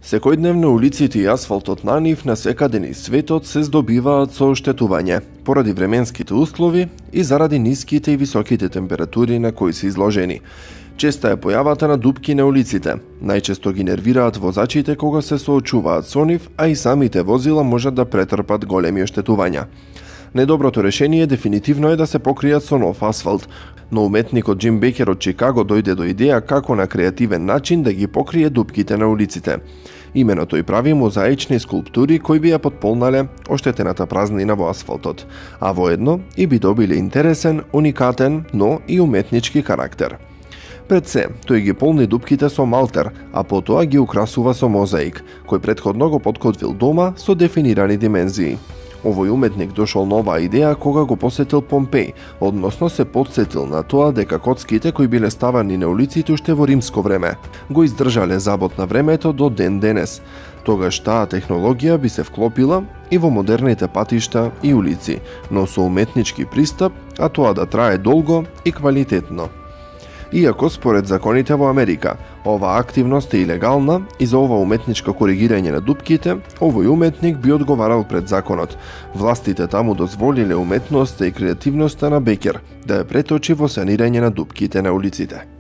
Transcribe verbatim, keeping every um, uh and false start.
Секојдневно улиците и асфалтот на нив на секаде низ светот се здобиваат со оштетување, поради временските услови и заради ниските и високите температури на кои се изложени. Честа е појавата на дупки на улиците. Најчесто ги нервираат возачите кога се соочуваат со нив, а и самите возила можат да претрпат големи оштетувања. Недоброто решение дефинитивно е да се покријат со нов асфалт, но уметникот Џим Бекер од Чикаго дојде до идеја како на креативен начин да ги покрие дупките на улиците. Имено тој прави мозаични скулптури кои би ја потполнале оштетената празнина во асфалтот, а воедно и би добиле интересен, уникатен, но и уметнички карактер. Пред се, тој ги полни дупките со малтер, а потоа ги украсува со мозаик, кој претходно го подкотвил дома со дефинирани димензии. Овој уметник дошол на оваа идеја кога го посетил Помпеј, односно се потсетил на тоа дека коцките кои биле ставани на улиците уште во римско време го издржале забот на времето до ден денес. Тогаш таа технологија би се вклопила и во модерните патишта и улици, но со уметнички пристап, а тоа да трае долго и квалитетно. Иако според законите во Америка, оваа активност е илегална и за ова уметничко коригирање на дупките, овој уметник би одговарал пред законот. Властите таму дозволиле уметноста и креативноста на Бекер да ја преточи во санирање на дупките на улиците.